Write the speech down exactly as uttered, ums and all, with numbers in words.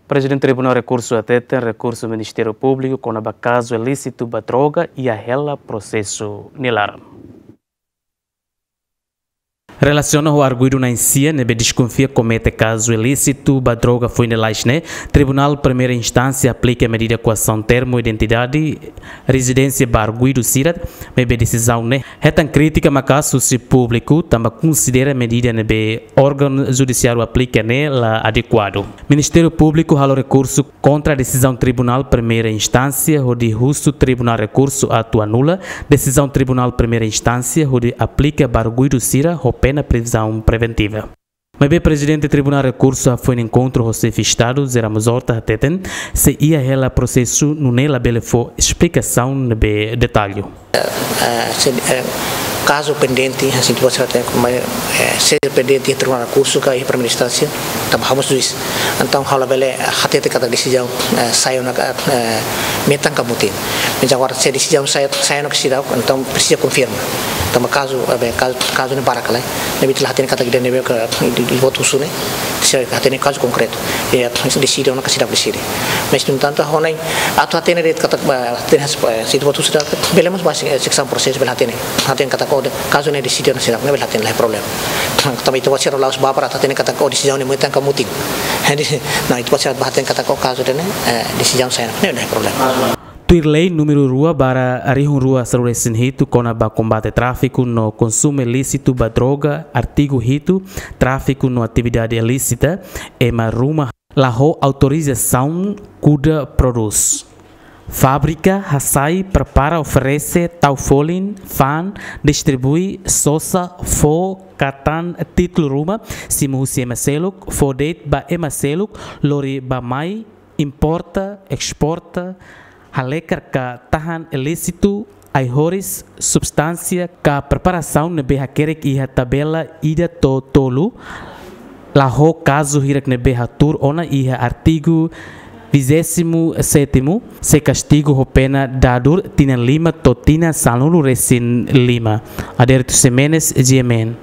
Prezidente Tribunál Rekursu hateten rekursu Ministériu Públiku kona-ba kazu ilísitu ba droga iha hela prosesu nia laran. Relasiona ho arguidu na'in-sia ne'ebé deskonfia komete kazu ilísitu ba droga foin lalais ne'e, Tribunál Primeira Instánsia aplika medida koasaun termu identidade, rezidénsia ba arguidu sira, maibé desizaun ne'e hetan krítika maka'as husi públiku, tanba konsidera medida ne'ebé órgaun judisiáriu aplika ne'e la adekuadu. Ministériu Públiku halo rekursu kontra desizaun Tribunál Primeira Instánsia hodi husu Tribunál Rekursu atu anula desizaun Tribunál Primeira Instánsia hodi aplika ba arguidu sira ho pena prizaun preventiva. Maibé Prezidente Tribunál Rekursu hafoin enkontru ho Xefe Estadu, José Ramos Horta hateten, sei iha hela prosesu nune'e labele fó esplikasaun ne'ebé detallu. Eh, se, eh, kazu pendente, hanesan ita-boot sira hatene, eh, se pendente iha Tribunál Rekursu ka iha Primeira Instánsia, tanba ha'u mós juís. Entaun ha'u labele hatete katak desizaun, eh, sai ona ka, eh, metan ka mutin. Mas agora se desizaun sai, sai ona ka seidauk, entaun presiza konfirma. Tanba kazu, eh, kazu, kazu ne'e barak lai. Ne'ebé ita la hatene katak ida ne'ebé ka, ita-boot husu ne'e, sira hatene kazu konkretu. Ya, deside ona ka seidauk deside. Mas, no entantu, ha'u hanoin, atu hatene de'it katak, ba, hatene has, ba, se ita-boot husu seidauk, bele mós ba se, eh, seksaun prosesu, bele hatene. Hatene katak, oh, de, kazu ne'e deside ona seidauk, ne'e bele hatene, la iha problema. Tanba ita-boot sira la'ós ba para hatene katak, oh, desizaun ne'e metan ka mutin. Jadi, nah, ita-boot sira ba hatene katak, oh, kazu ne'e, eh, desizaun sai ona, ne'e la iha problema. Tuir lei númeru rua barra rihun rua sanulu-resin-hitu kona-ba kombate tráfiku no konsumu ilísitu ba droga, artigu hitu, tráfiku no atividade ilísita, ema ruma la ho autorizasaun kuda prodús. Fábrika hasai, prepara, oferese, tau folin, fa'an, distribui, sosa, fó, katan, títulu ruma, simu husi ema seluk, fó de'it ba ema seluk, lori bá-mai, importa, esporta, halekar ka tahan ilísitu, ai-horis, substánsia ka preparasaun ne'ebé hakerek iha tabela ida to'o tolu, la ho kazu hirak ne'ebé hatuur ona iha artigu vigésimo sétimo, sei kastigu ho pena dadur tinan lima to'o tinan sanulu-resin-lima. Adérito Ximenes, G M N.